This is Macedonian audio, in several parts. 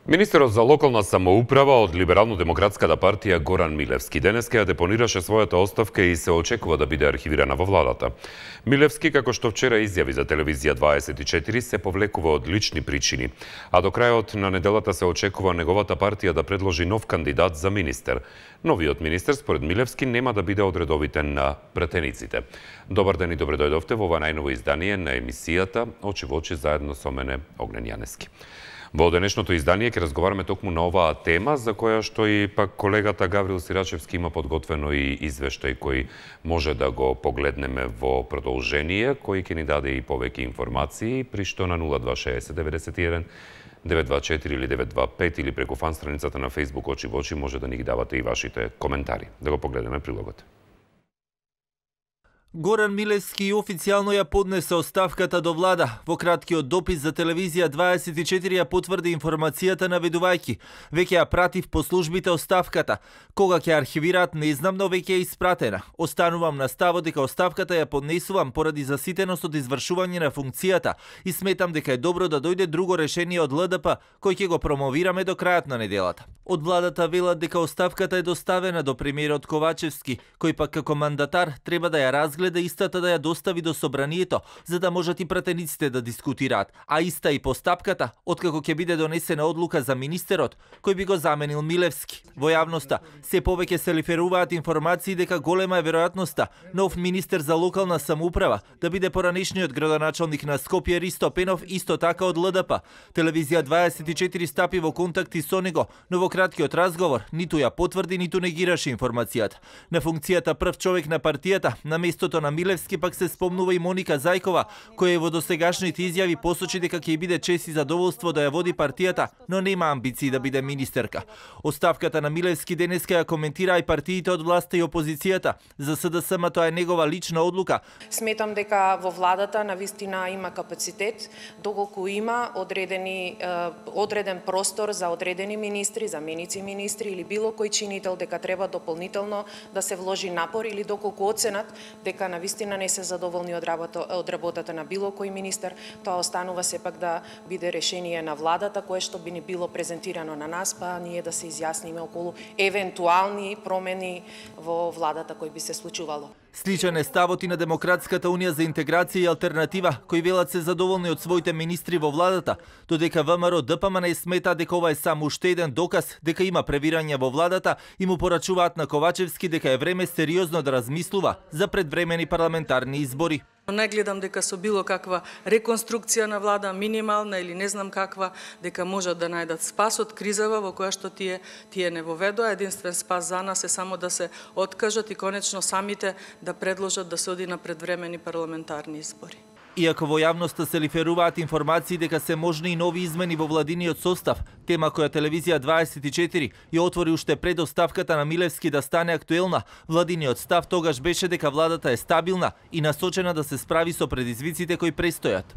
Министерот за локална самоуправа од Либерално-демократската партија Горан Милевски денеска ја депонираше својата оставка и се очекува да биде архивирана во владата. Милевски, како што вчера изјави за телевизија 24, се повлекува од лични причини, а до крајот на неделата се очекува неговата партија да предложи нов кандидат за министер. Новиот министер, според Милевски, нема да биде од редовите на пратениците. Добар ден и добре дојдовте во ова најново издание на емисијата Очи во очи заедно со мене Огнен Јанески. Во денешното издание ќе разговараме токму на оваа тема, за која што и пак колегата Гаврил Сирачевски има подготвено и извештај кој може да го погледнеме во продолжение, кој ќе ни даде и повеќе информации, при што на 0260 91 924 или 925 или преку фан страницата на Facebook Очи во очи може да ни ги давате и вашите коментари. Да го погледнеме прилогот. Горан Милевски официјално ја поднесе оставката до влада. Во краткиот допис за телевизија 24 ја потврди информацијата наведувајќи: веќе ја пратив по службите оставката. Кога ќе архивираат не знам, но веќе е испратена. Останувам на ставот дека оставката ја поднесувам поради заситеност од извршување на функцијата и сметам дека е добро да дојде друго решение од ЛДП, кој ќе го промовираме до крајот на неделата. Од владата велат дека оставката е доставена до премиерот Ковачевски, кој пак како мандатар треба да ја разгледа истата да ја достави до собранието, за да можат и пратениците да дискутираат, а иста и постапката, откако ќе биде донесена одлука за министерот, кој би го заменил Милевски. Во јавноста се повеќе се лиферуваат информации дека голема е веројатноста нов министер за локална самоуправа да биде поранешниот градоначалник на Скопје Ристо Пенов, исто така од ЛДП. Телевизија 24 стапи во контакти со него, но во краткиот разговор ниту ја потврди, ниту негираше информацијата. На функцијата прв човек на партијата, на местото на Милевски пак се спомнува и Моника Зајкова, која во досегашните изјави посочи дека ќе биде чест и задоволство да ја води партијата, но нема амбиции да биде министерка. Оставката на Милевски денеска ја коментира и партиите од власта и опозицијата. За СДСМ тоа е негова лична одлука. Сметам дека во владата навистина има капацитет, доколку има одреден простор за одредени министри, заменици министри или било кој чинител дека треба дополнително да се вложи напор или доколку оценат дека навистина не се задоволни од работата на било кој министер, тоа останува сепак да биде решение на владата, кое што би ни било презентирано на нас, па ние да се изјасниме околу евентуални промени во владата кои би се случувало. Сличен е ставот и на Демократската унија за интеграција и алтернатива, кои велат се задоволни од своите министри во владата, додека ВМРО ДПМН смета дека ова е само уште еден доказ дека има превирање во владата и му порачуваат на Ковачевски дека е време сериозно да размислува за предвремени парламентарни избори. Не гледам дека со било каква реконструкција на влада, минимална или не знам каква, дека можат да најдат спас од кризава во која што тие не воведоа. Единствен спас за нас е само да се откажат и конечно самите да предложат да се оди на предвремени парламентарни избори. Иако во јавноста се лиферуваат информации дека се можни и нови измени во владиниот состав, тема која телевизија 24 ја отвори уште пред оставката на Милевски да стане актуелна, владиниот став тогаш беше дека владата е стабилна и насочена да се справи со предизвиците кои престојат.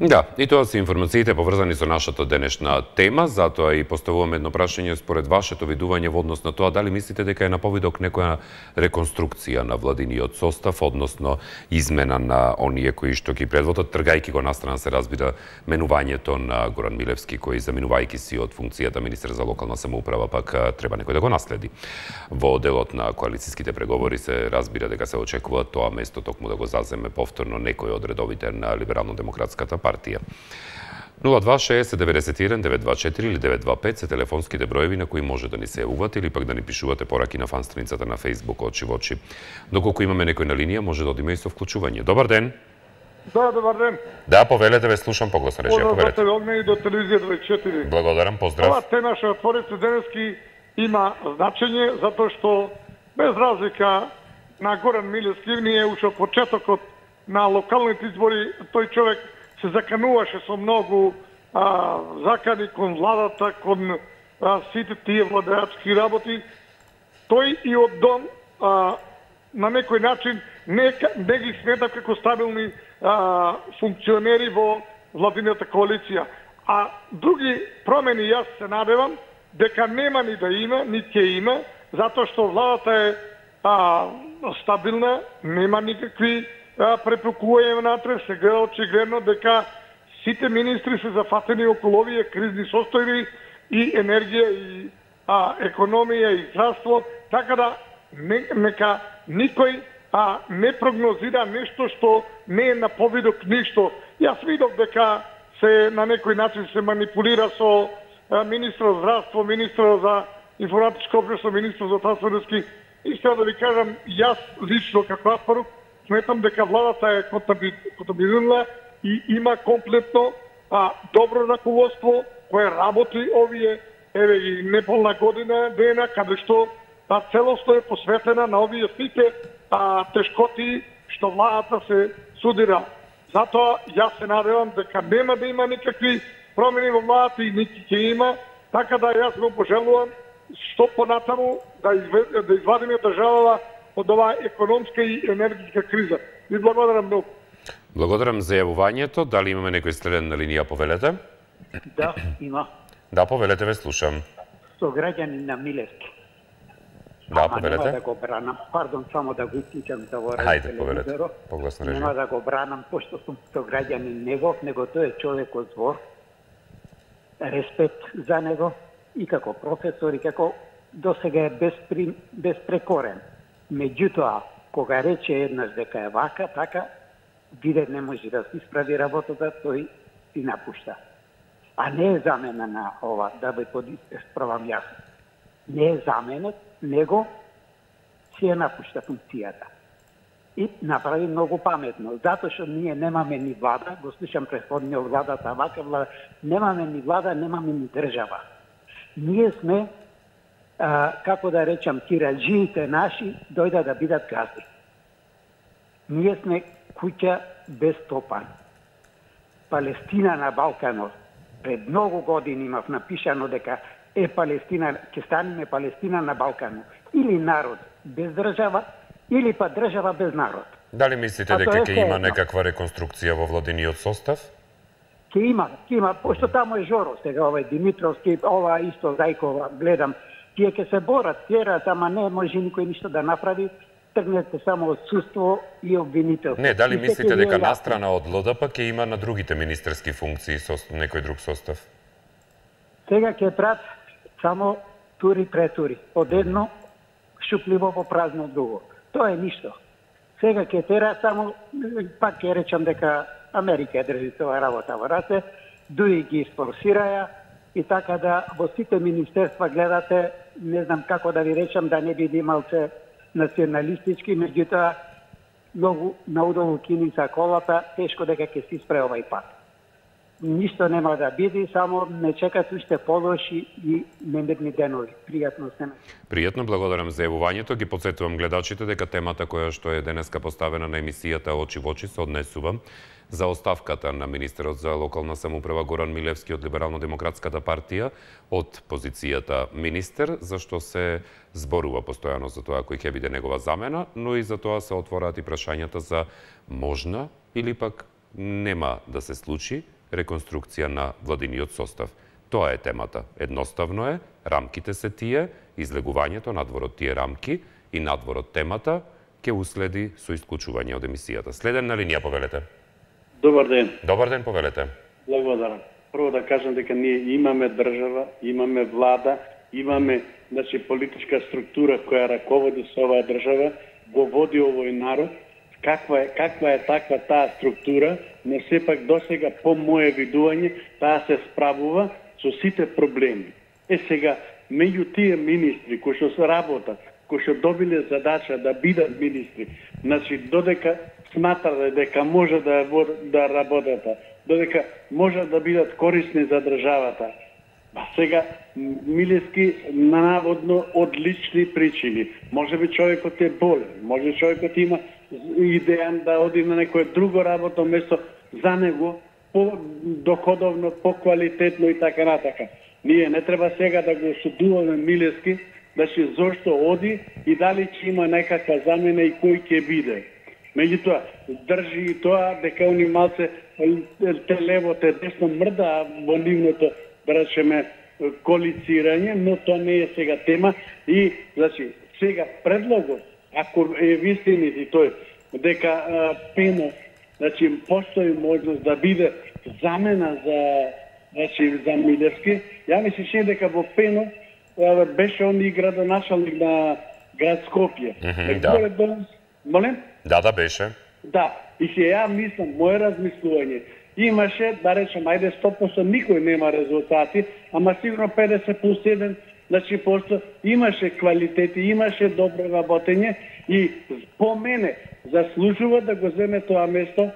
Да, и тоа се информациите поврзани со нашата денешна тема, затоа и поставуваме едно прашање според вашето видување во однос на тоа дали мислите дека е на повидок некоја реконструкција на владиниот состав, односно измена на оние кои што ги предводат, тргајќи го настрана се разбира менувањето на Горан Милевски, кој заминувајќи си од функцијата министер за локална самоуправа, пак треба некој да го наследи. Во делот на коалицијските преговори се разбира дека се очекува тоа место токму да го заземе повторно некој од редовите на Либерално-демократската партија. 0260 91 924 или 925 се телефонските броеви на кои може да ни се јавувате или пак да ни пишувате пораки на фан страницата на Facebook Очи во очи. Доколку имаме некој на линија, може да одиме и со вклучување. Добар ден. Да, добар ден. Да, повелете, ве слушам погласно речија, повелете. Огне и до телевизија 24. Благодарам, поздрав. Ова тема што отворите денески има значење затоа што без разлика на Горан Милевски ние уште од почетокот на локалните избори тој човек се закануваше со многу закани кон владата, кон сите тие владеачки работи. Тој и од дом на некој начин не ги смета како стабилни функционери во владината коалиција. А други промени јас се надевам дека нема ни да има, ни ќе има, затоа што владата е стабилна, нема никакви препукување внатре, се гледа очигледно дека сите министри се зафатени околу овие кризни состојби и енергија и економија и здравство, така да нека никој не прогнозира нешто што не е на повидок ништо. Јас видов дека се на некој начин се манипулира со министрот за здравство, министрот за информатичко општество, министрот за трансферски. И сега да ви кажам, јас лично како Аспарук сметам дека владата е контабилна и има комплетно добро раководство кое работи овие и неполна година дена, каде што целосно е посветена на овие сите тешкоти што владата се судира. Затоа јас се надевам дека нема да има никакви промени во владата и нити ќе има, така да јас го пожелувам што понатаму да извадиме државата од оваа економска и енергетска криза. Ви благодарам многу. Благодарам за јавувањето. Дали имаме некој следен на линија, повелете? Да, има. Да, повелете, ве слушам. Со граѓани на Милевски. Да, повелете. Нема да го бранам. Пардон, само да го исклучам да го Хајде, повелете. Погласно режим. Нема да го бранам, пошто сум со граѓани негов, него тој е човек од збор. Респект за него и како професор и како досега е безпрекорен. Меѓутоа, кога рече еднаш дека е вака, така, биде не може да се исправи работата, тој си напушта. А не е замена на ова, да би подисправам јас. Не е заменет, него си е напушта функцијата. И направи многу паметно, затоа што ние немаме ни влада, го слушам претходниот владата, вака влада, немаме ни влада, немаме ни држава. Ние сме, како да речам, тираџиите наши дојда да бидат газди. Ние сме куќа без стопан. Палестина на Балканот. Пред многу години имав напишано дека Палестина, ќе станеме Палестина на Балканот. Или народ без држава, или па држава без народ. Дали мислите дека ќе има некаква реконструкција во владиниот состав? Ќе има, пошто тамо е Жоро, сега овај Димитровски, ова исто Зајкова, гледам, тие ќе се борат, терат, ама не може никој ништо да направи, тргнете само отсуство и обвинител. Не, дали мислите дека настрана од ЛДП ќе има на другите министерски функции со некој друг состав? Сега ќе прат само тури претури, од едно шупливо по празно друго. Тоа е ништо. Сега ќе тера само, пак ќе речам дека Америка ја држи тоа работа во раце, дуи ги спонсираја и така да во сите министерства гледате, не знам како да ви речам, да не биде малце националистички, меѓутоа многу наудолу кини за колата, тешко дека ќе се испре овај пат. Ништо нема да биде, само не чекат уште полоши и немирни денови. Пријатно се. Пријатно, благодарам за јавувањето. Ги потсетувам гледачите дека темата која што е денеска поставена на емисијата Очи во очи се однесува за оставката на министерот за локална самоуправа Горан Милевски од Либерално-демократската партија од позицијата министер, зашто се зборува постојано за тоа кој ќе биде негова замена, но и за тоа се отвораат и прашањата за можна или пак нема да се случи реконструкција на владиниот состав. Тоа е темата. Едноставно е, рамките се тие, излегувањето надвор од тие рамки и надвор од темата ќе уследи со исклучување од емисијата. Следен на линија, повелете. Добар ден. Добар ден, повелете. Благодарам. Прво да кажам дека ние имаме држава, имаме влада, имаме политичка структура која раководи со оваа држава, го води овој народ. Каква е таква таа структура, но сепак досега по моје видување таа се справува со сите проблеми. Сега, меѓу тие министри кои што се работат, кои што добиле задача да бидат министри, додека сматат дека може да работат, додека може да бидат корисни за државата. Сега, Милевски наводно од лични причини. Може би човекот е болен, може човекот има идеја да оди на некој друго работно место за него, по-доходовно, по-квалитетно и така натака. Ние не треба сега да го судуваме Милевски, зошто оди и дали ќе има некаква замена и кој ќе биде. Меѓутоа, држи и тоа дека они малце те лево, те десно мрда во нивното, да речеме, коалицирање, но тоа не е сега тема. И, сега предлогот, ако е вистинит и тој, дека Пенов, постои можност да биде замена за Милевски. Ја ми се чини дека во Пено беше он и градоначалник на град Скопје. Да. Молем? Да, беше. Да, и се ја мислам, моје размислување, имаше, да речем, ајде 100% никој нема резултати, ама сигурно 50+1, значи просто имаше квалитети, имаше добро работење и по мене заслужува да го земе тоа место,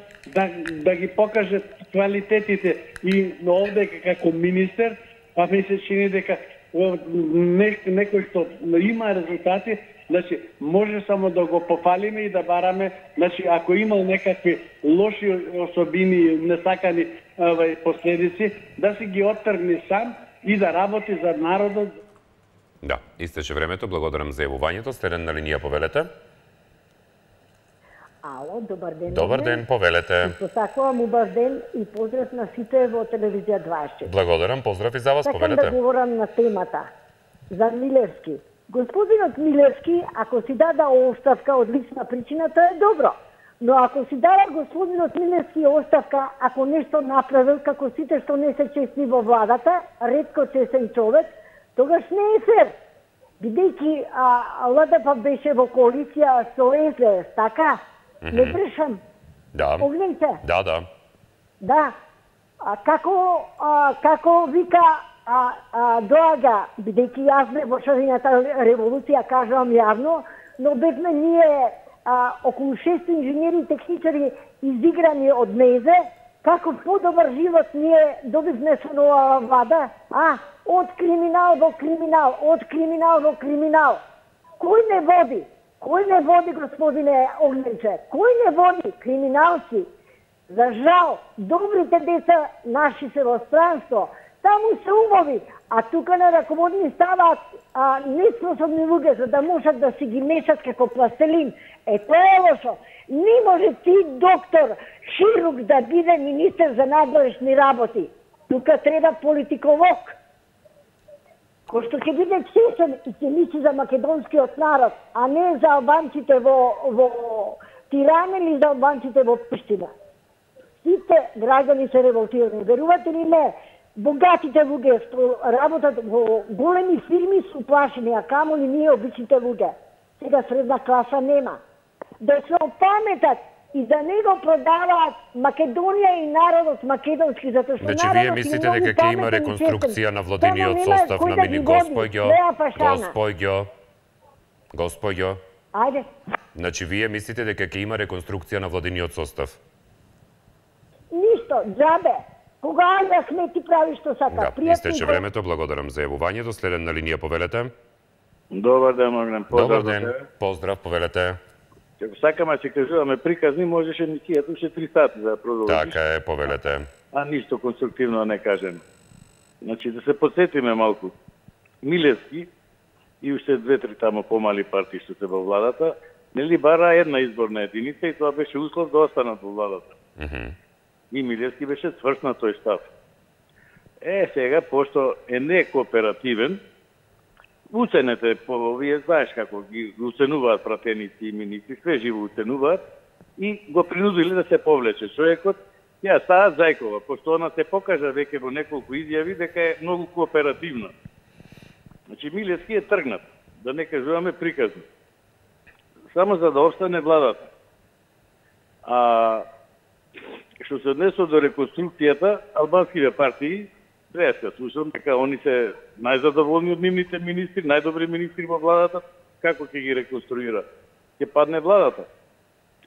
да ги покаже квалитетите и овде како министер, па ми се чини дека некој што има резултати, значи може само да го пофалиме и да бараме, значи ако имал некакви лоши особини, несакани последици, да си ги оттргне сам и да работи за народот. Да, истече времето, благодарам за јавувањето. Сте на линија, повелете. Ало, добар ден. Добар ден, повелете. Посакувам убав ден и поздрав на сите во телевизија 24. Благодарам, поздрав и за вас, повелете. Сакам да говорам на темата за Милевски. Господинот Милевски, ако си дада оставка од лична причина, тоа е добро. Но ако си дава господинот Милевски оставка, ако нешто направил, како сите што не се честни во владата, ретко честен човек, тогаш не е фер. Бидејќи ЛДП беше во коалиција со СДС, така? Не брешам. Да. Погледнете. Да. Да. Како вика доаѓа, бидејќи јас бе во шарената револуција, кажувам јавно, но бевме ние околу 6 инженери и техничари изиграни од мезе, како подобар живот ние добивме со нова влада, од криминал во криминал, од криминал во криминал. Кој не води? Кој не води, господине Огненче? Кој не води? Криминалци. За жал, добрите деца наши се во странство, таму се убави, а тука на раководни ставаат неспособни луѓе за да можат да си ги мешат како пластелин. Тоа е лошо. Не може ти, доктор, хирург, да биде министер за надворешни работи. Тука треба политиколог, кој што ќе биде чесен и ќе мисли за македонскиот народ, а не за албанците во Тирана или за албанците во Приштина. Сите граѓани се револтирани. Верувате ли не? Богатите луѓе што работат во големи фирми се уплашени, а камоли ние обичните луѓе. Сега средна класа нема. Да се опаметат и да не го продаваат Македонија и народот македонски, затоа што значи, вие мислите дека ќе има реконструкција на владиниот состав на мини Госпоѓо? Ајде. Значи, вие мислите дека ќе има реконструкција на владиниот состав? Ништо, џабе. Кога да смети прави што сака. Да, истече времето, благодарам за јавувањето. Следен на линија, повелете. Добар ден, Огнен. Добар ден, поздрав, повелете. Ако сакаме се кажуваме приказни, можеше мисијата уште 3 сати да продолжиш. Така е, повелете. А ништо конструктивно не кажем. Значи, да се подсетиме малку. Милевски и уште 2-3 тамо помали партии што се во владата, нели бара една изборна единица и тоа беше услов да останат во владата. И Милевски беше цврст на тој став. Сега, пошто е некооперативен, уценете, вие знаеш како ги уценуваат пратеници и министри, све живо уценуваат и го принудили да се повлече човекот. Ја става Зајкова, пошто она се покажа веќе во неколку изјави дека е многу кооперативна. Значи Милевски е тргнат, да не кажуваме приказно. Само за да остане владата. Што се однесува до реконструкцијата, албанските партии, треба да слушам дека они се најзадоволни од нивните министри, најдобри министри во владата, како ќе ги реконструира? Ќе падне владата.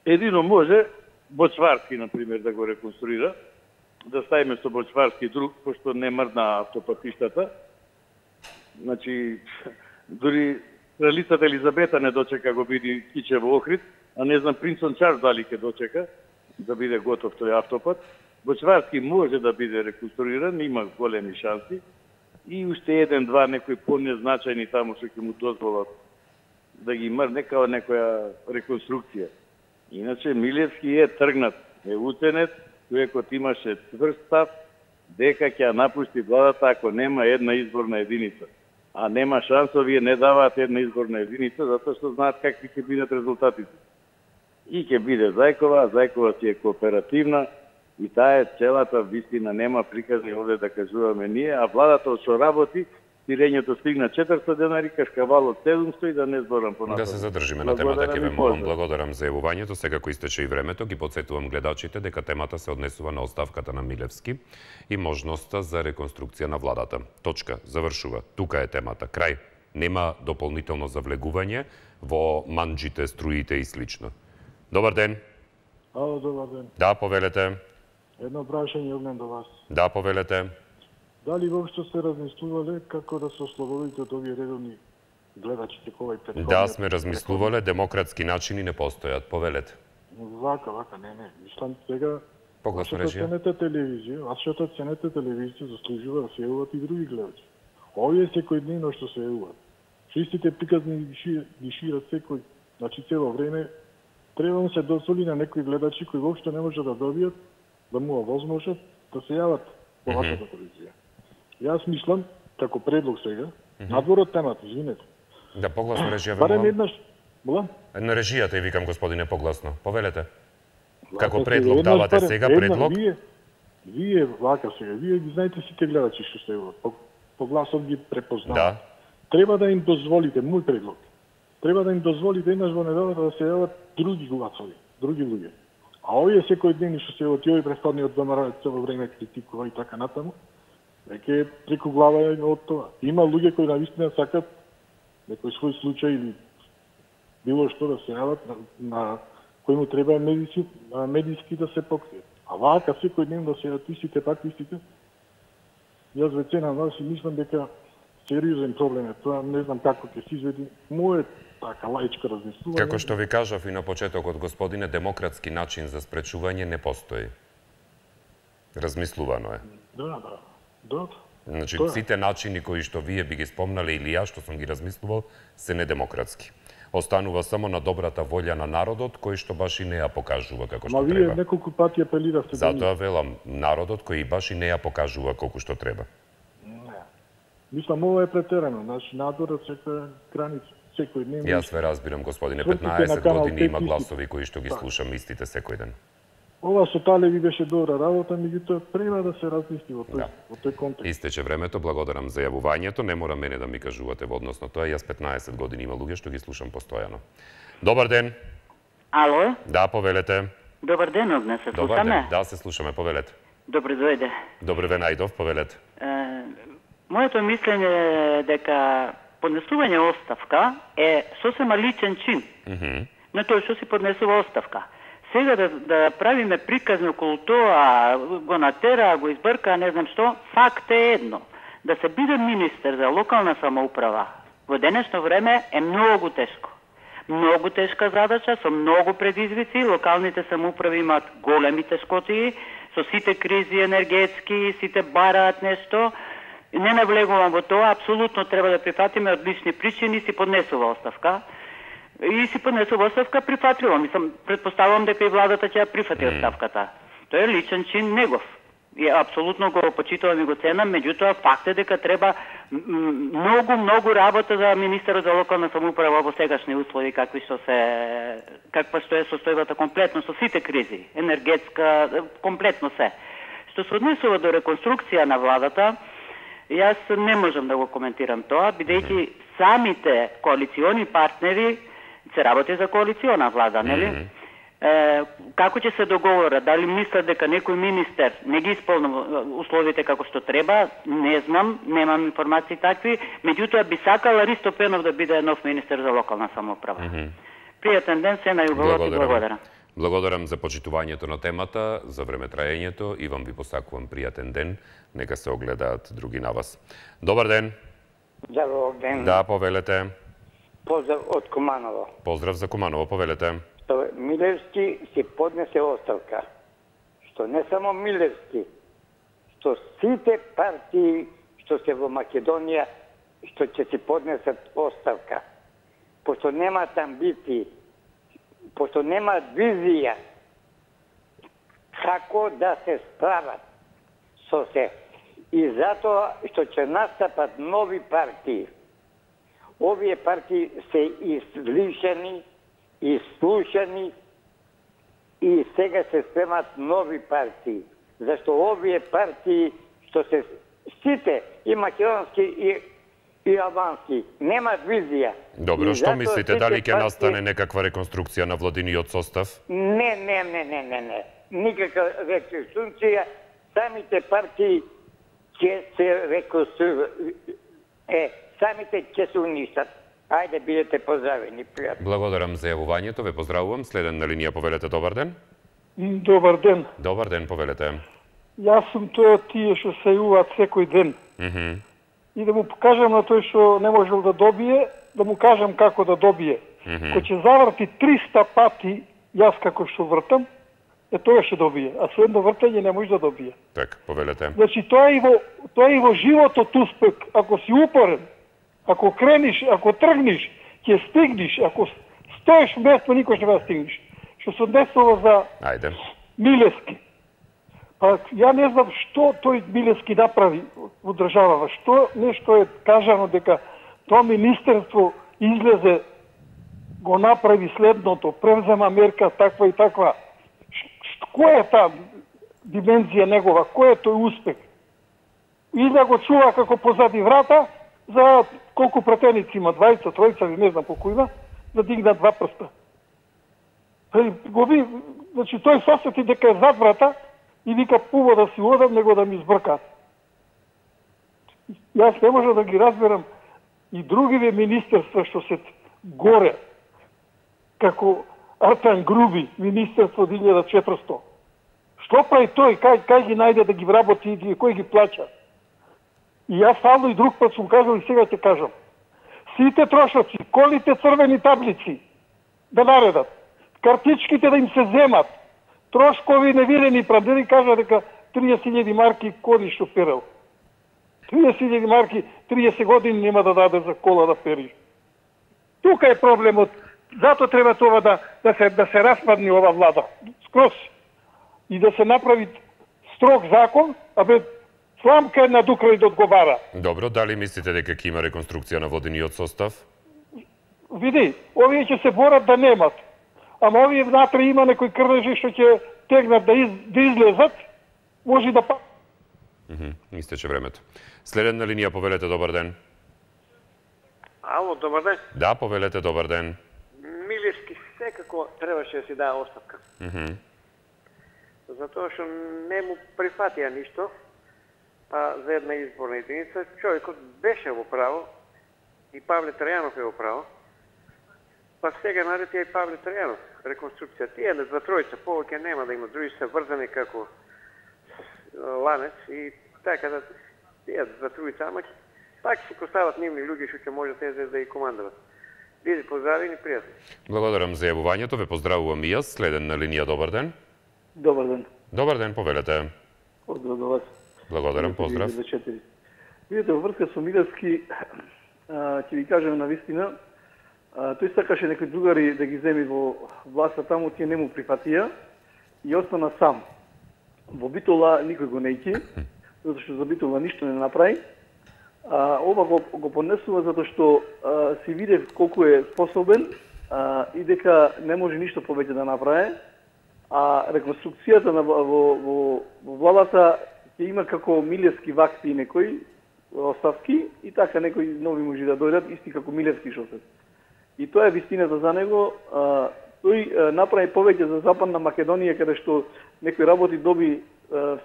Едино може Бочварски, например, да го реконструира, да ставиме со Бочварски друг, пошто не мрдна автопатиштата. Значи, дури кралицата Елизабета не дочека го биде киче во Охрид, а не знам принцон Чарлс дали ќе дочека да биде готов тој автопат. Бочварски може да биде реконструиран, има големи шанси. И уште 1-2 некои понезначајни таму што ќе му дозволат да ги мрне као некоја реконструкција. Иначе Милевски е тргнат, е уценет, човекот имаше цврст став дека ќе напусти владата ако нема една изборна единица. А нема шанс, овие не даваат една изборна единица, затоа што знаат какви ќе бидат резултатите. И ќе биде Зајкова, Зајкова си е кооперативна, И таа е целата вистина, нема приказни овде да кажуваме ние, а владата што работи, сирењето стигна 400 денари, кашкавалот 700 и да не зборам понатаму. Да се задржиме на темата, ќе ве молам, благодарам за јавувањето. Сега кој истече и времето, ги потсетувам гледачите дека темата се однесува на оставката на Милевски и можноста за реконструкција на владата. Точка, завршува. Тука е темата. Крај. Нема дополнително завлегување во манџите, струите и слично. Добар ден. Ало, добар ден. Да, повелете. Едно прашање однем до вас. Да, повелете. Дали воопшто сте размислувале како да се ослободите од овие редовни гледачите кој претходни? Да, сме размислувале, демократски начини не постојат. Повелете. Вака, не. Мислам сега Погласно режија. Вашата ценете телевизија заслужува да се јавуват и други гледачи. Овие секојдневно што се јавуват. Чистите приказни ги шират секој, значи цело време треба да се дозволи на некои гледачи кои воопшто не може да добијат да му овозможат да се јават по вашата телевизија. Јас мислам, како предлог сега, надвор од темата, извинете. Да, погласно режија. Барем еднаш, молам? На режијата и викам, господине, погласно. Повелете. Како предлог давате сега, предлог? Вие, вака сега, вие ги знаете сите гледачи што се јават. По гласот ги препознават. Да. Треба да им дозволите, мој предлог, треба да им дозволите еднаш во неделата да се јават други гласови, други луѓе. А овие секој ден што се јават, овој претходниот ВМРО цело време критикува и така натаму, веќе преку глава е од тоа. Има луѓе кои навистина сакат некој свој случај или било што да се јават на кој му треба медиски да се покријат. А вака секој ден да се јават истите. Јас веќе на вас и мислам дека сериозен проблем е тоа, не знам како ќе се изведи. Моје така лаичко размислување. Како што ви кажав и на почетокот, господине, демократски начин за спречување не постои. Размислувано е. Да. Значи, сите начини кои што вие би ги спомнале или јас што сум ги размислувал, се недемократски. Останува само на добрата волја на народот, кој што баш и не ја покажува како што треба. Вие неколку пати апелиравте. Затоа велам, народот кој баш и не ја покажува колку што треба. Мислам, ова е претерано, значи надворот секоја граница, секој ден. Јас ве разбирам, господине, 15 години има гласови кои што ги слушам истите секој ден. Ова со Талеви беше добра работа, меѓутоа треба да се размисли во тој контекст. Истече времето, благодарам за јавувањето, не мора мене да ми кажувате во однос на тоа, јас 15 години има луѓе што ги слушам постојано. Добар ден. Ало? Да, повелете. Добар ден, Огне, се слушаме? Добар ден, да, се слушаме, повелете. Добре дојде. Добре ве најдов, повелете. Моето мислење е дека поднесување оставка е сосема личен чин. На тој што си поднесува оставка. Сега да правиме приказни околу тоа, го натера, го избрка, не знам што, факт е едно. Да се биде министер за локална самоуправа во денешно време е многу тешко. Многу тешка задача, со многу предизвици, локалните самоуправи имаат големи тешкоти, со сите кризи енергетски, сите бараат нешто. Не навлегувам во тоа, апсолутно треба да прифатиме од лични причини, си поднесува оставка. И си поднесува оставка прифатливо. Мислам, предпоставувам дека и владата ќе ја прифати оставката. Тоа е личен чин негов. И апсолутно го почитувам и го ценам, меѓутоа факт е дека треба многу работа за министерот за локална самоуправа во сегашни услови каква што е состојбата комплетно со сите кризи, енергетска, комплетно се. Што се однесува до реконструкција на владата, јас не можам да го коментирам тоа, бидејќи самите коалициони партнери се работи за коалициона влада, нели? Како ќе се договорат? Дали мислат дека некој министер не ги исполнува условите како што треба? Не знам, немам информации такви. Меѓутоа би сакала Ристо Пенов да биде нов министер за локална самоуправа. Пријатен ден, се најубавот и благодарам. Благодарам за почитувањето на темата, за времетраењето и вам ви посакувам пријатен ден. Нека се огледаат други на вас. Добар ден. Добар ден. Да, повелете. Поздрав од Куманово. Поздрав за Куманово, повелете. Милевски си поднесе оставка. Што не само Милевски, што сите партии што се во Македонија, што ќе си поднесат оставка. Пошто немаат амбиции, пошто немаат визија како да се справат со се. И затоа што ќе настапат нови партии. Овие партии се излишани, изслушани и сега се спремат нови партии. Зашто овие партии што се сите и македонски и албански немаат визија. Добро, што мислите, дали ќе настане некаква реконструкција на владиниот состав? Не. Никаква реконструкција. Самите партии ќе се реконструираат. Самите ќе се уништат. Ајде, бидете поздравени, пријатно. Благодарам за јавувањето, ве поздравувам. Следен на линија, повелете, добар ден. Добар ден. Добар ден, повелете. Јас сум тој од тие што се јуваат секој ден. И да му покажам на тој што не можел да добие, да му кажам како да добие. Кој ќе заврти 300 пати, јас како што вртам, тоа ќе добие. А со едно вртање не може да добие. Так, повелете. Значи, тоа е и во животот успех. Ако си упорен, ако крениш, ако тргнеш, ќе стигнеш. Ако стоеш место, никош не да стигнеш. Што се однесува за Милевски. Па ја не знам што тој Милевски направи во државава. Што нешто е кажано дека тоа министерство излезе, го направи следното, превзема мерка таква и таква. Која е таа димензија негова? Кој е тој успех? И да го чува како позади врата, за колку пратеници има, 20, 30, не знам колку има, да дигнат 2 прста. Значи тој сосети дека е зад врата и вика пуво да си одам, него да ми избркат. Јас не можам да ги разберам и другиве министерства што се горе, како Артан Груби, министерство 1400. Што прави тој? Кај ги најде да ги вработи и кој ги плаќа? И јас стално и друг пат сум кажал и сега ќе кажам. Сите трошоци, колите црвени таблици да наредат, картичките да им се земат, трошкови невидени прадери кажа дека 30.000 марки коли што перел. 30.000 марки 30 години нема да даде за кола да пери. Тука е проблемот. Зато треба това да се распадне ова влада. Скроз. И да се направи строг закон, сламка една дукрај да одговара. Добро, дали мислите дека ќе има реконструкција на водениот состав? Види, овие ќе се борат да немат. Ама овие внатре има некои крнежи што ќе тегнат да излезат, може да Истече времето. Следен на линија, повелете, добар ден. Ало, добар ден. Да, повелете, добар ден. Милевски секако требаше да си даде оставка. Затоа што не му прифатија ништо за една изборна единица. Човекот беше во право и Павле Трајанов е во право. Па сега нареди и Павле Трајанов. Реконструкција. Тие за тројца повеќе нема да има, други се врзани како ланец и така да тие за тројца, ама пак се постават нивни луѓе што ќе може тези да и командуват. Биде поздравени, пријатно. Благодарам за јавувањето, ве поздравувам и јас. Следен на линија, добар ден. Добар ден. Добар ден, повелете. Поздрав до вас. Благодарам, поздрав. Видите, во врска со Милевски, ќе ви кажем на вистина, тој сакаше некои другари да ги земи во власта таму, тие не му прифатија и остана сам. Во Битола никој го не ики, затоа што за Битола ништо не направи. Ова го понесува затоа што си виде колку е способен и дека не може ништо повеќе да направи. А реконструкцијата во владата ќе има како Милевски вакти некои оставки и така некои нови може да дојдат, исти како Милевски што се. И тоа е вистината за него. Тој направи повеќе за Западна Македонија, каде што некој работи доби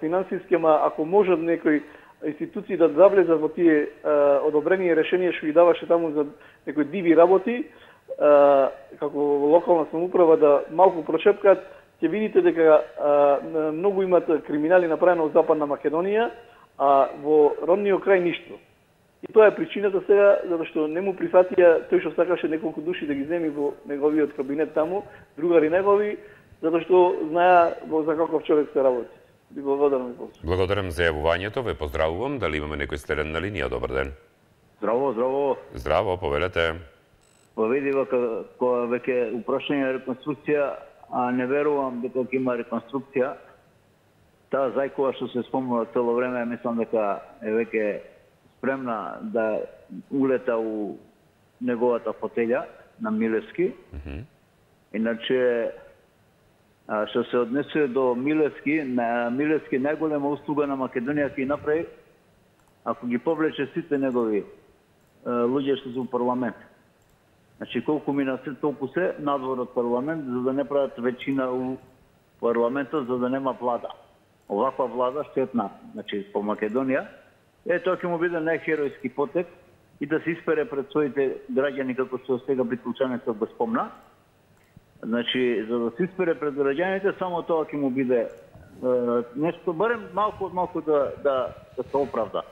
финансиски, ама ако можат некои институции да завлезат во тие одобрени решенија што ги даваше таму за некои диви работи, како локална самоуправа да малку прошепкат, ќе видите дека многу имат криминали направено од Западна Македонија, а во родниот крај ништо. И тоа е причината сега, затоа што не му прифатија тој што сакаше неколку души да ги земи во неговиот кабинет таму, другари негови, затоа што знаеа за каков човек се работи. Ви благодарам. Благодарам за јавувањето, ве поздравувам. Дали имаме некој следен на линија? Добар ден. Здраво, здраво. Здраво, повелете. Поведи кога веќе упрашање реконструкција, а не верувам дека ќе има реконструкција. Таа зајкова што се спомнува цело време, мислам дека е веќе спремна да улета у неговата фотелја на Милевски. Иначе Што се однесува до Милевски, Милевски најголема услуга на Македонија ќе направи ако ги повлече сите негови луѓе што се во парламент. Значи колку мина се толку се надвор од парламент за да не прават веќина у парламентот за да нема влада. Оваква влада штетна, значи по Македонија. Тоа ќе му биде најхеројски потек и да се испере пред своите граѓани како што сега Битолчанецот го спомна. Значи, за да се испере пред граѓаните, само тоа ќе му биде нешто, барем малку да се оправда.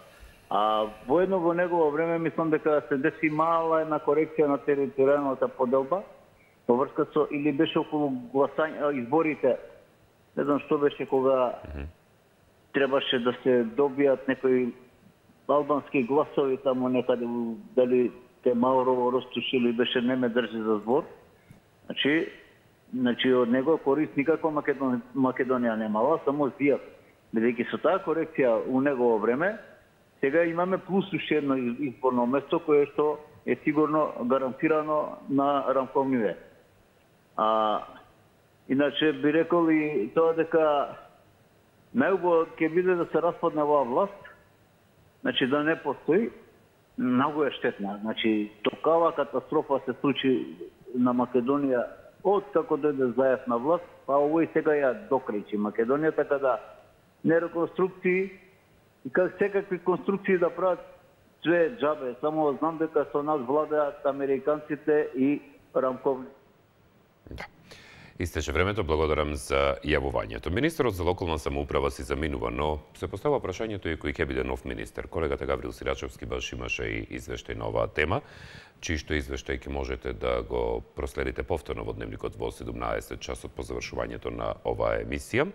А воедно во негово време мислам дека се деси мала една корекција на територијалната поделба во врска со или беше околу гласање изборите. Не знам што беше кога требаше да се добијат некои албански гласови таму некаде, дали те Маурово Ростушили беше не ме држи за збор. Значи од него корист никако Македонија немала, само зијат. Бидејќи со таа корекција у негово време, сега имаме плюс уште едно изборно место кое што е сигурно гарантирано на Рамковниве. Иначе би рекол и тоа дека најубаво ќе биде да се распадне оваа власт, значи да не постои, многу е штетна. Значи такава катастрофа се случи на Македонија од како дојде Заев на власт, па овој сега ја докречи Македонија, така да не реконструкции и как секакви конструкции да прават све џабе. Само знам дека со нас владеат американците и Рамковни. Да. Истече времето, благодарам за јавувањето. Министерот за локална самоуправа си заминува, но се поставува прашањето и кој ќе биде нов министер. Колегата Гаврил Сирачевски баш имаше и извештај на оваа тема, чиј што извештај ќе можете да го проследите повторно во Дневникот во 17 часот по завршувањето на оваа емисија.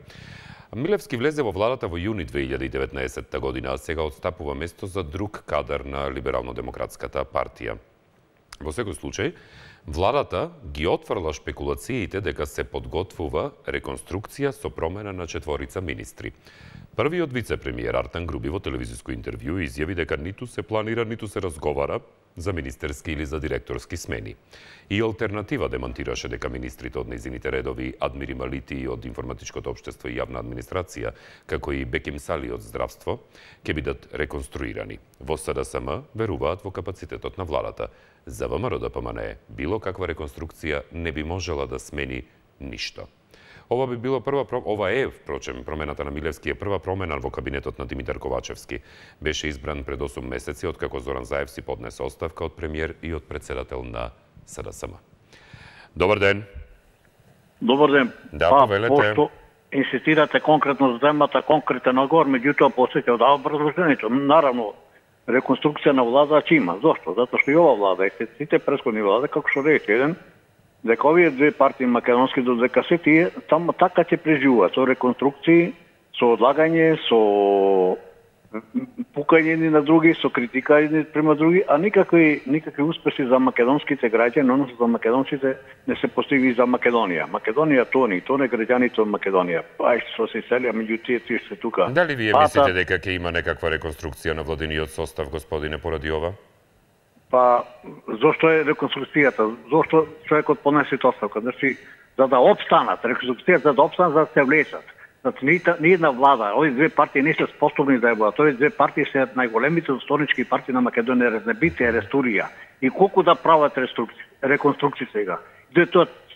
Милевски влезе во владата во јуни 2019 година, а сега отстапува место за друг кадар на Либерално-демократската партија. Во секој случај, владата ги отфрла шпекулациите дека се подготвува реконструкција со промена на 4 министри. Првиот вице-премиер Артан Груби во телевизиско интервју изјави дека ниту се планира, ниту се разговара за министерски или за директорски смени. И алтернатива демонтираше дека министрите од нејзините редови Адмири Малити од информатичкото општество и јавна администрација, како и Беким Сали од здравство, ќе бидат реконструирани. Во СДСМ веруваат во капацитетот на владата. За ВМРО ДПМНЕ било каква реконструкција не би можела да смени ништо. Ова е, впрочем, промената на Милевски е прва промена во кабинетот на Димитар Ковачевски. Беше избран пред 8 месеци, откако Зоран Заев си поднесе оставка од премиер и од председател на СДСМ. Добар ден. Добар ден. Да, повелете. Пошто инсистирате конкретно за темата, конкретен одговор, меѓутоа посеќа да образложението. Наравно, реконструкција на влада ќе има. Зошто? Затоа што и ова влада и сите претходни влада, како што рече еден, дека овие две партии македонски додека се тие таму така ќе преживуваат со реконструкции, со одлагање, со пукање едни на други, со критика едни према други, а никакви успеси за македонските граѓани, односно за македонците не се постигни за Македонија. Македонија тони граѓаните од Македонија. Ај што се селија меѓу тие се тука. Дали вие мислите дека ќе има некаква реконструкција на владиниот состав, господине, поради ова? Па, зошто е реконструкцијата? Зошто човекот понесе оставка? Значи, за да опстанат, реконструкцијата за да опстанат, за да се влечат. Значи, ни една влада, овие две партии не се способни да ја водат. Овие две партии се најголемите застолнички партии на Македонија, Резнебите, Рестурија. И колку да прават реконструкција сега?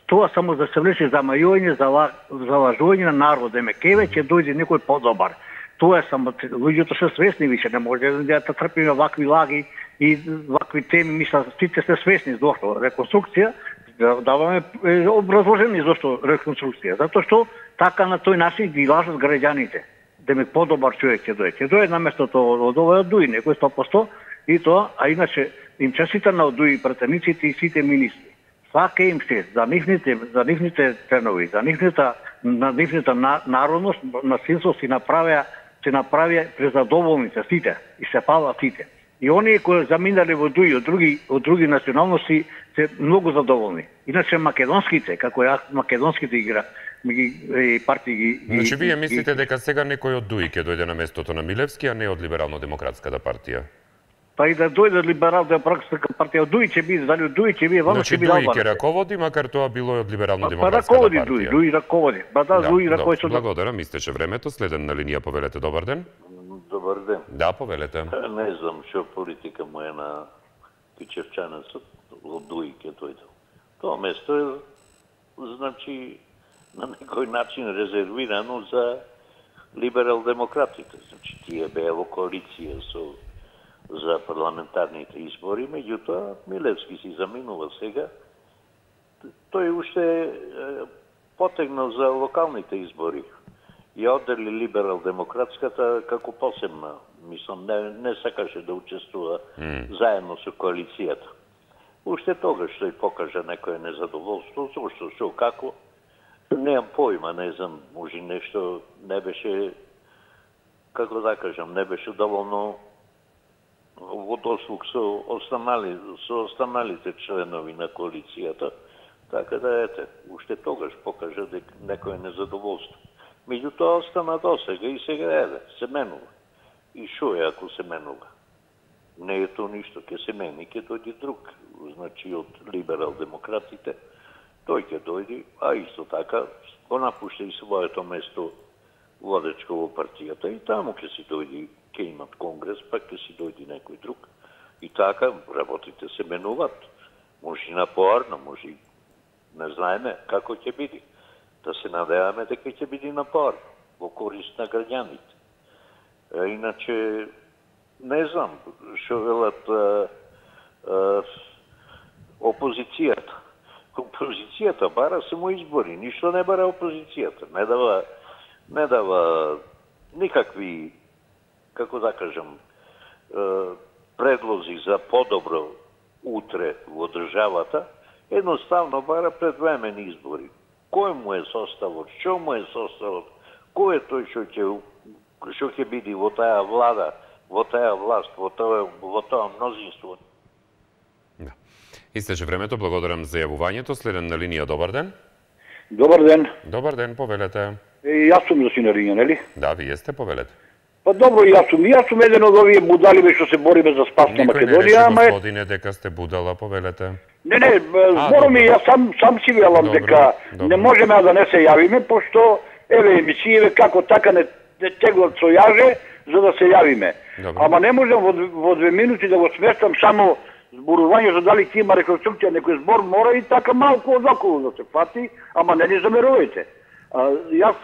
Тоа само за се влече за мајување, за лажување на народ. Кеве ќе дојде некој подобар. Тоа е само, луѓето се свесни више, не може да трпиме вакви лаги и вакви теми, мисля, сите се свесни зошто реконструкција, даваме образложение зошто реконструкција, затоа што така на тој начин ги лажат граѓаните. Демек подобар човек ќе дојде. Ќе дојде на местото од овој Дуи, некој 100% и тоа, а иначе им честитам на Дуи пратениците и сите министри. Свака им се за нивните ценови, за нивната народност, насилство си направија презадоволните сите и се пала сите. И оние кои заминале во Дуи од други националности се многу задоволни. Иначе македонските, како македонските партии ги... Значи вие мислите дека сега некој од Дуи ќе дојде на местото на Милевски, а не од Либерално-демократската партија? Па и да дојде либерал-демократска партија, Дуј ќе биде, дали Дуј ќе биде, Значи Дуј ќе раководи, макар тоа било и од либерално-демократската партија. Па раководи партија. Дуј раководи. Па да, Дуј раководи. Благодарам, истече времето. Следен на линија, повелете, добар ден. Добар ден. Да, повелете. Не знам што политика му е на Кичевчанецот, од Дуј ќе дојде. Тоа место е, значи, на некој начин резервирано за либерал-демократите. Значи, тие беа во коалиција за парламентарните избори, меѓутоа Милевски си заминува сега. Тој уште потегнал за локалните избори. Ја оддели либерал-демократската како посебна. Мислам, не сакаше да учествува заедно со коалицијата. Уште тогаш тој покажа некое незадоволство, зашто, што, како, немам појма, не знам, може нешто не беше, како да кажам, не беше доволно во дослуг со останалите членови на коалицијата, така да ете, уште тогаш покажа дека некое незадоволство. Меѓутоа остана досега и сега еве, се менува. И шо е ако се менува? Не е то ништо, ќе се мени, ќе дојде друг, значи од либерал-демократите, тој ќе дојде, а исто така го напушта и своето место водечко во партијата и таму ќе си дојде, ќе имат конгрес, пак ќе си дојде некој друг. И така работите се менуваат. Може и напоарно, може и не знаеме како ќе биде. Да се надеваме дека ќе биде напоарно, во корист на граѓаните. Иначе, не знам што велат опозицијата. Опозицијата бара само избори, ништо не бара опозицијата. Не дава никакви, како да кажам, предлози за подобро утре во државата, едноставно бара предвремени избори. Кој му е составот, што му е составот, кој е тој што ќе биде во таа влада, во таа власт, во тоа мнозинство. Да. Истече времето, благодарам за јавувањето. Следен на линија, добар ден. Добар ден. Добар ден, повелете. Јас сум за синаринја, нели? Да, вие сте, повелете. Па добро, јас сум еден од овие будали што се бориме за спас на Македонија, Никој не рече, господине, дека сте будала, повелете. Не, збором и јас сам си велам дека не можеме да не се јавиме, пошто еве емисијеве како така не теглат со јаже за да се јавиме. Ама не можам во 2 минути да го сместам само зборување за дали ќе има реконструкција, некој збор мора и така малку одоколу да се фати, ама не ни замерувајте. Јас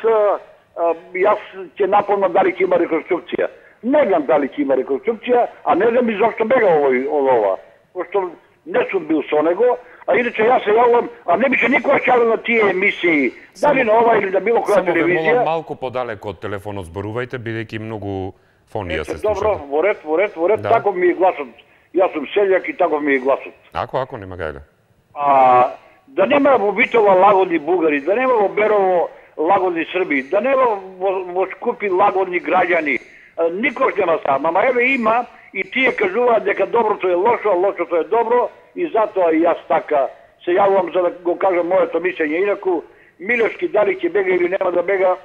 ќе напомнам дали ќе има реконструкција. Не знам дали ќе има реконструкција, а не знам и зашто бега од ова. Пошто не сум бил со него, а иначе јас се јавам, а не беше никога јавил на тие емисии, дали на ова или на било која телевизија. Само ве молам малку подалеку од телефонот зборувајте, бидејќи многу фонија се слушат. Добро, во ред, таков ми е гласот. Јас сум селјак и таков ми е гласот. Ако, нема гајле. Да нема во Битола лагодни бугари, да нема во Берово лагодни срби, да нема во Скупи лагодни граѓани, никош нема сам, ама еве има и тие кажуваат дека доброто е лошо, а лошото е добро и затоа и јас така се јавувам за да го кажам моето мислење. Инаку Милевски дали ќе бега или нема да бега,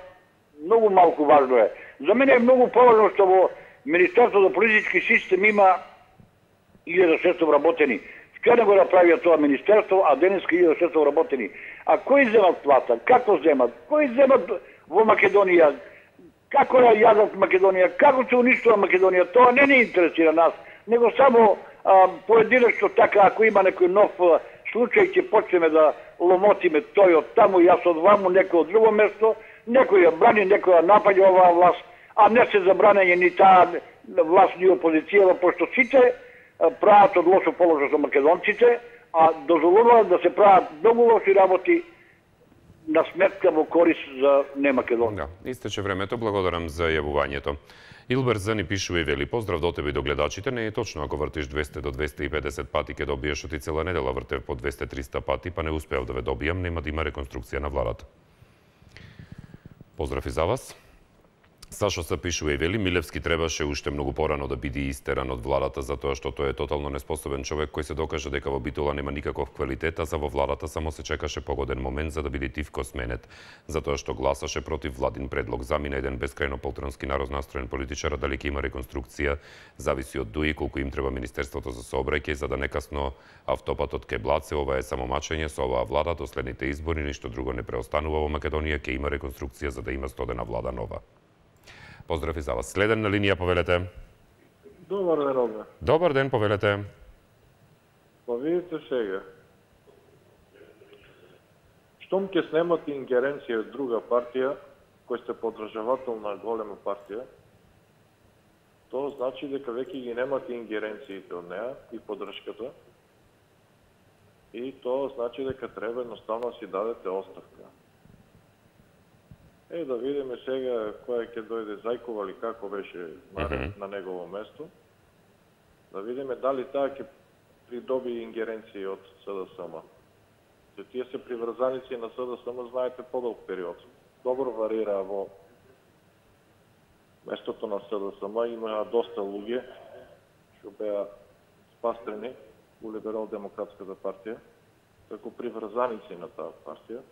многу малку важно е. За мене е многу поважно што во Министерството за политички систем има 1600 вработени. Вчера го направија тоа министерство, а денеска 1600 вработени. А кои земат плата? Како земат? Кои земат во Македонија? Како ја јадат Македонија? Како се уништува Македонија? Тоа не ни интересира нас, него само поединечно така, ако има некој нов случај, ќе почнеме да ломотиме тој од таму, јас од ваму, некој од друго место, некој ја брани, некој ја напаѓа оваа власт, а не се забранење ни таа власт ни опозицијава, пошто сите прават од лошо положение со македонците, а дозволуваат да се прават многу лоши работи на сметка во корист за не Македонија. Да, истече времето, благодарам за јавувањето. Илбер Зани пишува и вели: поздрав до тебе и до гледачите. Не е точно ако вртиш 200 до 250 пати ќе добиеш, оти цела недела вртев по 200-300 пати, па не успеав да ве добијам, нема да има реконструкција на владата. Поздрав и за вас. Сашо се пишува и вели, Милевски требаше уште многу порано да биде истеран од владата затоа што тој е тотално неспособен човек кој се докажа дека во Битола нема никаков квалитет, а за во владата само се чекаше погоден момент за да биде тивко сменет, затоа што гласаше против владин предлог. Замина еден бескрајно полтронски народ настроен политичар, дали ќе има реконструкција зависи од ДУИ, колку им треба Министерството за сообраќај за да некасно автопатот ке Блаце. Ова е само мачење со оваа влада до следните избори, ништо друго не преостанува во Македонија, ќе има реконструкција за да има стодена влада нова. Поздрав и за вас. Следен на линија, повелете. Добар ден, Робе. Добар ден, повелете. Па видите сега. Штом ќе снемат ингеренција од друга партија, кој сте поддржавател на голема партија, тоа значи дека веќе ги немате ингеренциите од неа и поддршката, и тоа значи дека треба едноставно да си дадете оставка. Да видиме сега која ќе дојде Зајкова или како беше на негово место. Да видиме дали таа ќе придоби ингеренции од СДСМ. Тие се приврзаници на СДСМ, знаете, подолг период. Добро варира во местото на СДСМ. Има доста луѓе што беа спастрени у Либерал-демократската партија, како приврзаници на таа партија.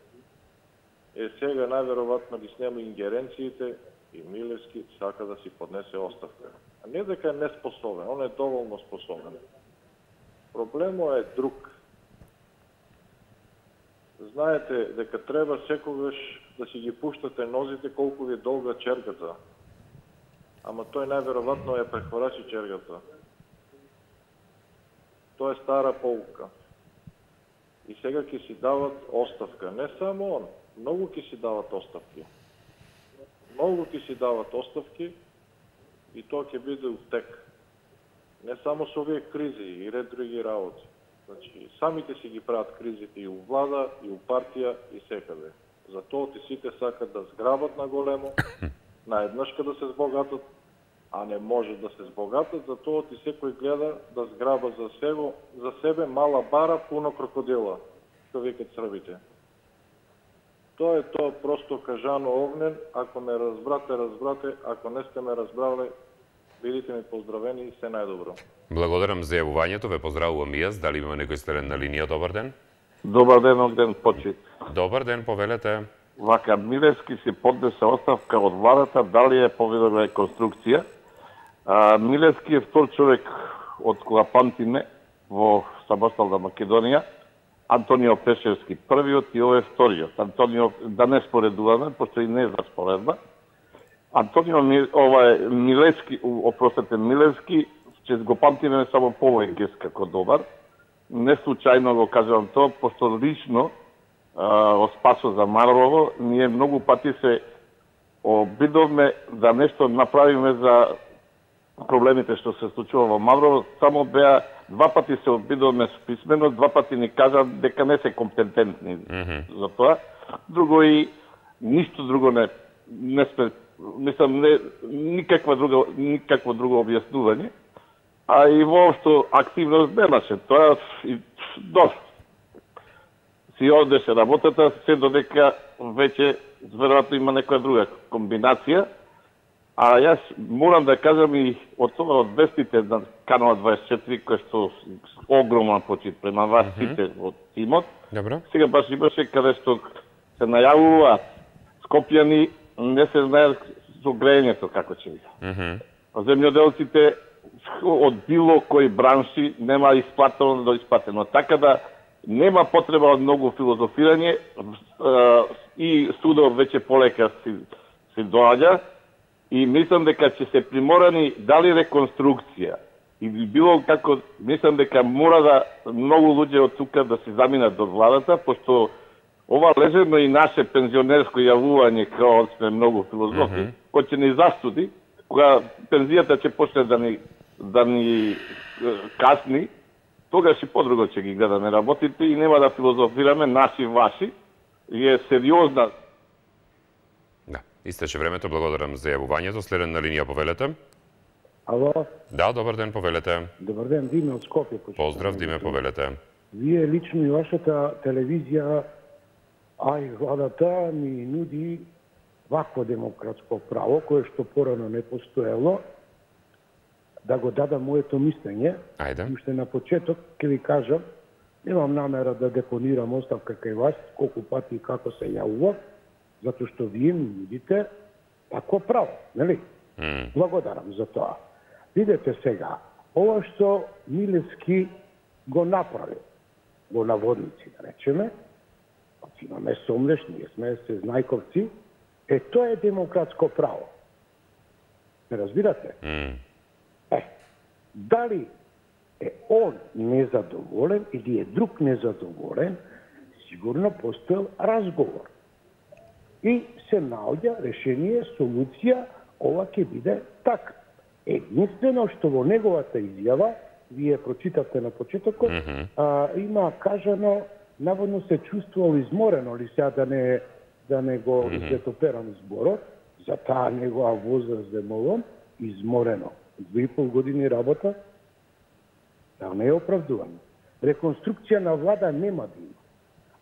Сега најверојатно ги снема ингеренциите и Милевски сака да си поднесе оставка. А не дека е неспособен, он е доволно способен. Проблемот е друг. Знаете дека треба секогаш да си ги пуштате нозите колку ви е долга чергата. Ама тој најверојатно ја прехворачи чергата. Тоа е стара полука. И сега ќе си дават оставка. Не само он. Многу ќе си дават оставки. Многу ќе си дават оставки и тоа ќе биде утек. Не само со овие кризи и ред други работи. Значи, самите си ги прават кризите и у влада, и у партија, и секаде. Затоа ти сите сакат да зграбат на големо, наеднашка да се збогатат, а не може да се збогатат, затоа ти секој гледа да зграба за себе мала бара, пуно крокодила, што викат србите. Тоа е тоа просто кажано огнен. Ако ме разбрате, разбрате. Ако не сте ме разбрали, бидите ми поздравени и се најдобро. Благодарам за јавувањето. Ве поздравувам и јас. Дали има некој следен на линија? Добар ден. Добар ден, Огден Почит. Добар ден, повелете. Вака, Милевски си поднесе оставка од владата, дали е поведена реконструкција. Милевски е втор човек од кога памтиме во самостална Македонија. Антонио Пешевски првиот и овој вториот. Антонио, да не споредуваме, пошто и не е за споредба. Антонио Милевски, Милевски, че го памтиме само по овој гест како добар. Не случајно го кажувам тоа, пошто лично о Спасо за Маврово, ние многу пати се обидовме да нешто направиме за проблемите што се случува во Маврово. Само беа два пати се обидовме писмено, два пати ни кажа дека не се компетентни за тоа. Друго и ништо друго не сме, мислам, никакво друго објаснување. А и воопшто активност немаше. Тоа и доста. Си одеше работата, се додека веќе веројатно има некоја друга комбинација. А јас морам да кажам и од тоа од вестите на Канал 24, кој што огромен почит према вас сите од тимот. Добро. Сега баш имаше каде што се најавува Скопјани, не се знае со грејењето како ќе биде. Земјоделците од било кои бранши нема исплатено до исплатено. Така да нема потреба од многу филозофирање и судот веќе полека си доаѓа. И мислам дека ќе се приморани дали реконструкција или било како, мислам дека мора да многу луѓе од тука да се заминат до владата, пошто ова лежерно и наше пензионерско јавување као сме многу филозофи, кој ќе ни застуди, кога пензијата ќе почне да ни касни, тогаш и подруго ќе ги гледаме работите и нема да филозофираме наши ваши, и е сериозна. Истече времето, благодарам за јавувањето. Следен на линија, повелете. Ало? Да, добар ден, повелете. Добар ден, Диме од Скопје. Поздрав, Диме, повелете. Вие лично и вашата телевизија, а и владата ми нуди вакво демократско право, кое што порано не постоело, да го дадам моето мислење. Ајде. Уште на почеток ќе ви кажам, немам намера да депонирам оставка кај вас, колку пати и како се јавува, затоа што вие ми нудите такво право, нели? Благодарам за тоа. Видете сега, ова што Милевски го направи, го наводници, да речеме, имаме сомнеш, ние сме се знајковци, тоа е демократско право. Не разбирате? Дали е он незадоволен или е друг незадоволен, сигурно постоел разговор. И се наоѓа решение, солуција, ова ќе биде така. Единствено што во неговата изјава, вие прочитавте на почетокот, има кажано, наводно се чувствувал изморено, ли сега да не го излетоперам зборот, за таа негова возраст демолом, изморено. 2,5 години работа, да не е оправдувано. Реконструкција на влада нема да има.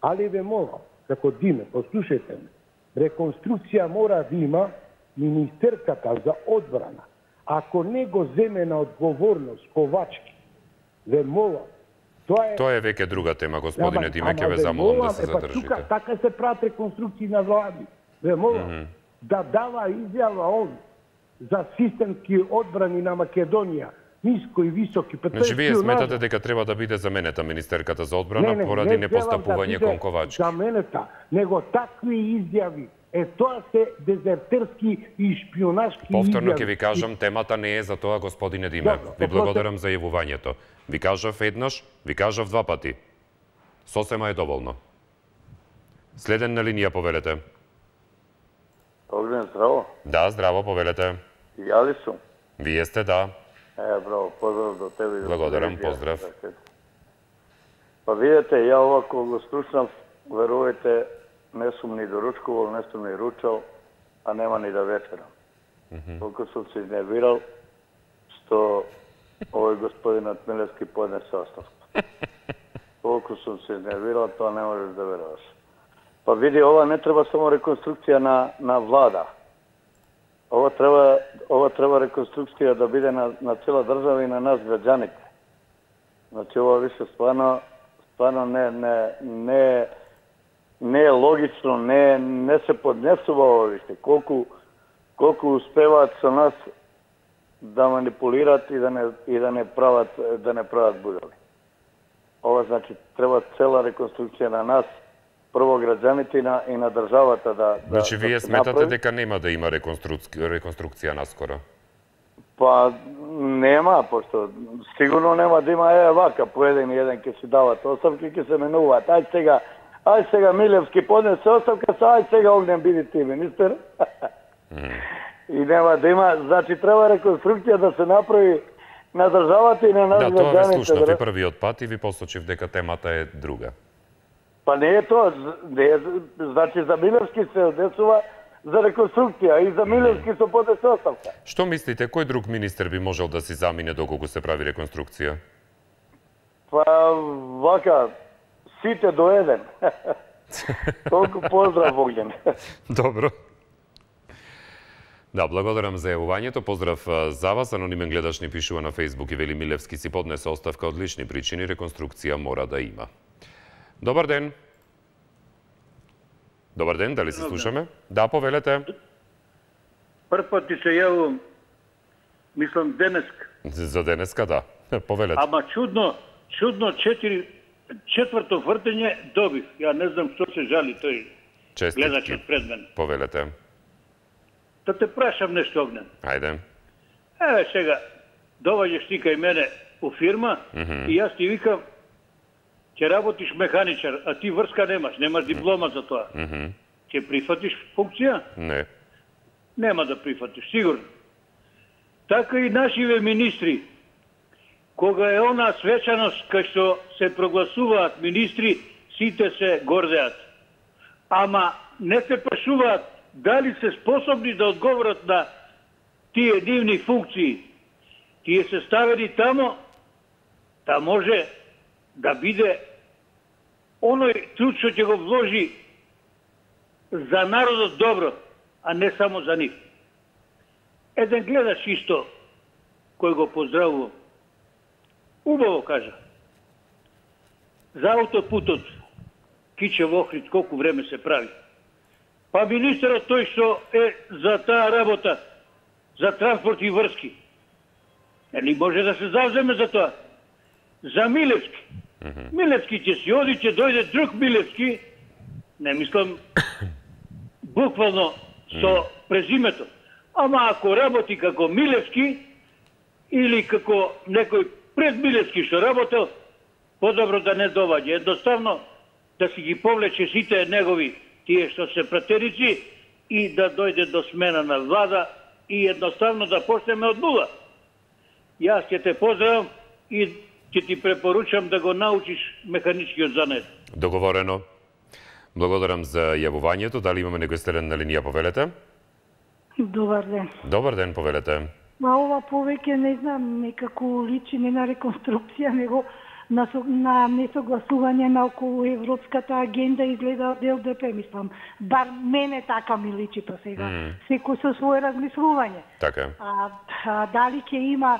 Али ве молам, како Диме, послушајте ме, реконструкција мора да има министерката за одбрана. Ако не го земе на одговорност Ковачки, ве молам, тоа е веќе друга тема, господине Диме, ќе ве замолам да се задржите. Така се прават реконструкции на влади. Ве молам, да дава изјава он за системски одбрани на Македонија, ниско и високи. Значи, вие сметате дека треба да биде заменета министерката за одбрана поради непостапување кон Ковачки? Заменета, него такви изјави. Тоа се дезертерски и шпионашки изјави. Повторно ќе ви кажам, темата не е за тоа, господине Диме. Ви благодарам за јавувањето. Ви кажав еднаш, ви кажав два пати. Сосема е доволно. Следен на линија, повелете. Огнен, здраво. Да, здраво, повелете. Ја ли сум? Вие сте, да. Браво, поздрав до тебе. Благодарам, поздрав. Па видите, ја овако го слушнав, верувајте, не сум ни доручкувал, не сум ни ручал, а нема ни да вечерам. Толку сум се изнервирал, што овој господинот Милевски поднесе оставка. Толку сум се изнервирал, тоа не можеш да веруваш. Па види, ова не треба само реконструкција на влада. Ова треба реконструкција да биде на цела држава и на нас граѓаните. Значи, ова више стварно не е логично, не се поднесува ова више. Колку успеваат со нас да манипулираат и да не прават будали. Ова значи треба цела реконструкција на нас, прво граѓаните и на државата да Значи, вие сметате дека нема да има реконструкција наскоро? Па, нема, пошто сигурно нема да има вака, по еден ќе си дават оставки, ќе се менуваат. Ај сега Милевски поднесе оставка, ај сега Огнен биди ти министер. И нема да има, значи треба реконструкција да се направи на државата и на нас граѓаните. Да, тоа ве слушнав и првиот пат и ви посочив дека темата е друга. Па не е тоа, значи за Милевски се одесува за реконструкција и за Милевски се поднесе оставка. Што мислите, кој друг министер би можел да си замине доколку се прави реконструкција? Па вака, сите до еден. Толку поздрав, Огнен. Добро. Да, благодарам за јавувањето. Поздрав за вас. Анонимен гледач ни пишува на Фејсбук и вели Милевски си поднесе оставка од лични причини, реконструкција мора да има. Добар ден. Добар ден, дали се слушаме? Да, повелете. Прв пат ти се јавувам, мислам денеска. За денеска, да. Повелете. Ама чудно четврто вртење добив. Ја не знам што се жали тој гледачот пред мен. Повелете. Да те прашам нешто, Огнен. Ајде. Сега, доваѓаш ти кај мене у фирма и јас ти викам, ќе работиш механичар, а ти врска немаш диплома за тоа. Ќе прифатиш функција? Не. Нема да прифатиш, сигурно. Така и нашиве министри, кога е она свечаност кај што се прогласуваат министри, сите се гордеат. Ама не се прашуваат дали се способни да одговорат на тие нивни функции. Тие се ставени тамо да може да биде оној труд што ќе го вложи за народот добро. а не само за нив. Еден гледаш исто, кој го поздравувам, убаво кажа, за аутопутот Кичев Охрид колку време се прави. Па министерот тој што е за таа работа, за транспорт и врски, нели може да се завземе за тоа? За Милевски. Милевски ќе си оди, ќе дојде друг Милевски, не мислам буквално со презимето, ама ако работи како Милевски или како некој пред Милевски што работел, подобро да не доваѓа. Едноставно да си ги повлече сите негови тие што се пратерици и да дојде до смена на влада и едноставно да почнеме од нула. Јас ќе те поздравам и ќе ти препоручам да го научиш механичкиот занет. Договорено. Благодарам за јавувањето. Дали имаме некој стерен на линија, повелете? Добар ден. Добар ден, повелете. Ова повеќе не знам, некако личи не на реконструкција, него на несогласување на околу европската агенда изгледа од ЛДП, мислам. Бар мене така ми личи па сега. Секој со свое размислување. Така. Дали ќе има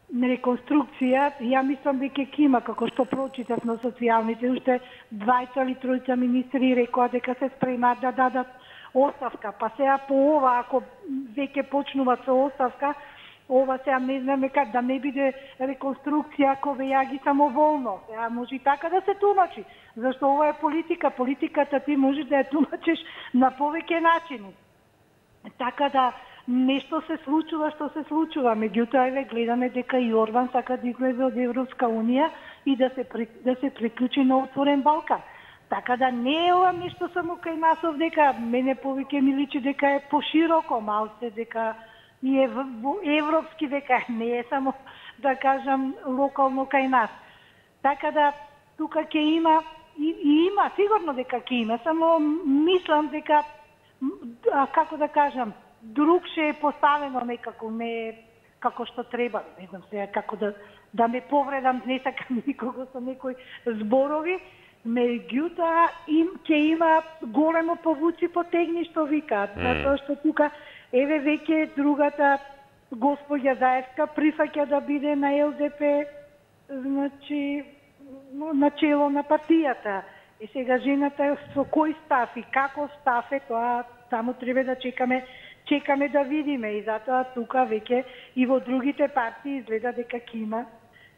реконструкција, ја мислам дека ќе има, како што прочитав на социјалните, уште 2 или 3 министри рекоа дека се спремаат да дадат оставка. Па сега по ова, ако веќе почнуваат со оставка, ова сега не знаме как да не биде реконструкција, ако вејаги самоволно. Сега може и така да се тумачи, зашто ова е политика. Политиката ти можеш да ја тумачиш на повеќе начини. Така да нешто се случува што се случува. Меѓутоа, еве гледаме дека и Орбан сака да излезе од Европска унија и да се приклучи на отворен Балкан. Така да не е ова нешто само кај нас овдека, мене повеќе ми личи дека е пошироко малце, дека и е европски, дека не е само, да кажам, локално кај нас. Така да тука ќе има, и има, сигурно дека ќе има, само мислам дека, како да кажам, другше е поставено некако, не како што треба, не знам сега како да ме повредам, не сакам никого со некои зборови, меѓутоа ќе има големо повуци потегни што викаат, затоа што тука еве веќе другата госпоѓа Заевска прифаќа да биде на ЛДП, значи на чело на партијата. И сега жената со кој став и како став е тоа, само треба да чекаме да видиме, и затоа тука веќе и во другите партии изгледа дека ќе има.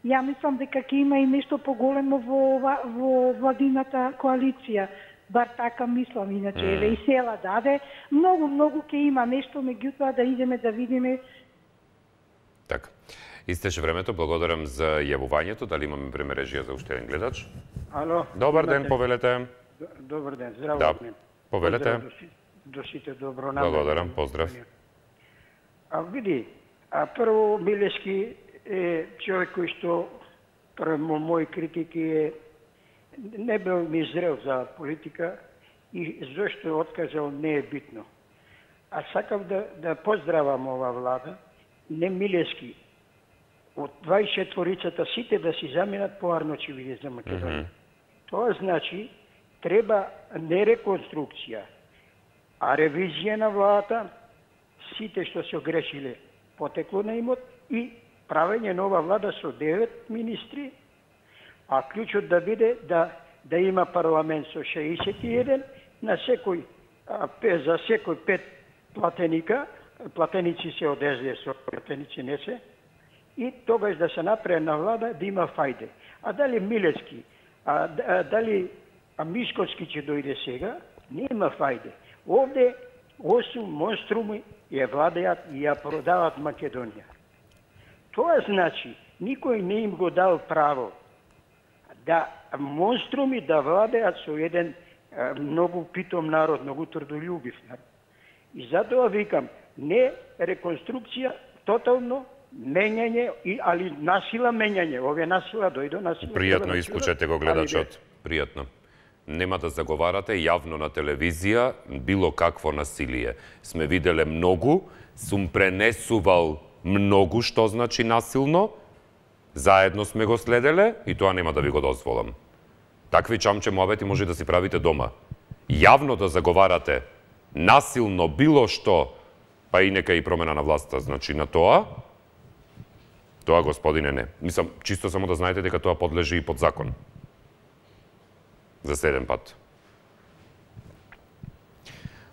Ја мислам дека ќе има и нешто поголемо во владината коалиција. Бар така мислам, иначе еве и села даде. Многу ќе има нешто, меѓутоа да идеме да видиме. Така. Истеше времето, благодарам за јавувањето. Дали имаме време режија за уште еден гледач? Ало. Добар ден, повелете. Добар ден, здраво. Да, повелете. До сите добронамерни. Благодарам, поздрав. Види, прво Милевски е човек кој што према мои критики не бил ми зрел за политика и зашто откажал не е битно. А сакав да поздравам ова влада, не Милевски. Од 24-цата сите да си заминат по Арночевиде за Македонија. Тоа значи треба не реконструкција, а ревизија на владата, сите што се огрешиле потекло на имот и правење нова влада со 9 министри, а клучот да биде да има парламент со 61, на секој за секој 5 платеници се од СДС, платеници не се, и тогаш да се направи на влада да има фајде. А дали Милевски, дали Мишковски ќе дојде сега, не има фајде. Овде 8 монструми ја владеат и ја продават Македонија. Тоа значи, никој не им го дал право да монструми да владеат со еден многу питом народ, многу трудолюбив народ. И затоа викам, не реконструкција, тотално менјање, али насила менјање. Овие насила дојдо, насила... Пријатно исклучете го гледачот. Пријатно. Нема да заговарате јавно на телевизија било какво насилие. Сме виделе многу, сум пренесувал многу што значи насилно, заедно сме го следеле и тоа нема да ви го дозволам. Такви чамче муабети може да си правите дома. Јавно да заговарате насилно било што, па и нека и промена на власта, значи на тоа, господине, не. Мислам, чисто само да знаете дека тоа подлежи и под закон. За следен пат.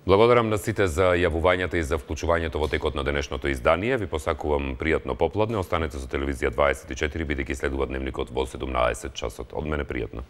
Благодарам на сите за јавувањата и за вклучувањето во текот на денешното издание. Ви посакувам пријатно попладне. Останете со телевизија 24, бидејќи следува дневникот во 17 часот. Од мене пријатно.